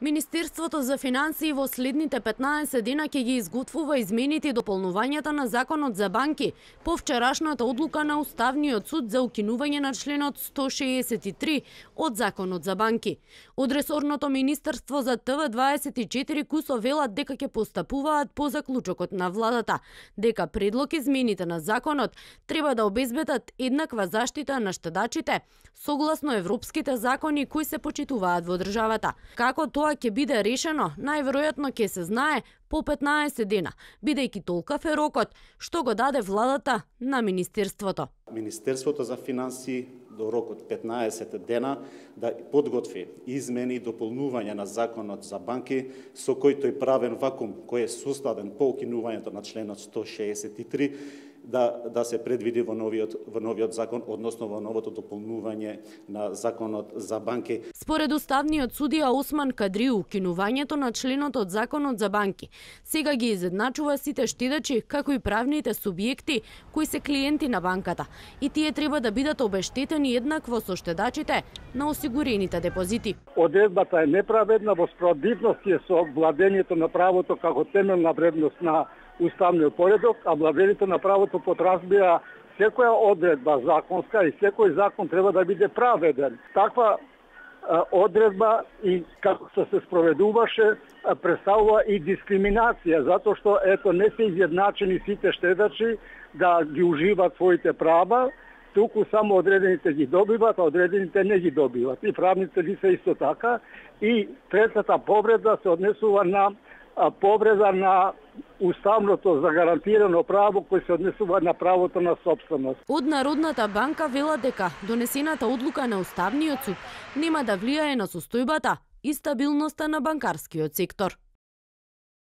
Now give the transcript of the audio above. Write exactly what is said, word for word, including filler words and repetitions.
Министерството за финансии во следните петнаесет дена ќе ги изготвува измените и дополнувањата на Законот за банки по вчерашната одлука на Уставниот суд за укинување на членот сто шеесет и три од Законот за банки. Од ресорното Министерство за Т В дваесет и четири Кусо велат дека ќе постапуваат по заклучокот на владата, дека предлог измените на законот треба да обезбедат еднаква заштита на штедачите согласно европските закони кои се почитуваат во државата. Како тоа ќе биде решено, најверојатно ќе се знае по петнаесет дена, бидејќи толкав е рокот што го даде владата на Министерството. Министерството за финансии до рокот петнаесет дена да подготви измени и дополнување на Законот за банки со кој тој правен вакуум кој е создаден по укинувањето на членот сто шеесет и три да да се предвиди во новиот во новиот закон, односно во новото дополнување на Законот за банки. Според уставниот судија Осман Кадри, укинувањето на членот од Законот за банки сега ги изедначува сите штедачи како и правните субјекти кои се клиенти на банката и тие треба да бидат обештетени еднакво со штедачите на осигурените депозити. Одредбата е неправедна во спротивност е со владењето на правото како темелна вредност на уставниот поредок, а владењето на правото подразбира секоја одредба законска и секој закон треба да биде праведен. Таква а, одредба и како се спроведуваше а, представува и дискриминација, затоа што ето не се изjednačени сите штедачи да ги уживаат своите права, туку само одредените ги добиват, а одредените не ги добиват. И правните лица исто така. И третата повреда се однесува на а, повреда на уставното загарантирано право кој се однесува на правото на сопственост. Од Народната банка вела дека донесената одлука на Уставниот суд нема да влијае на состојбата и стабилноста на банкарскиот сектор.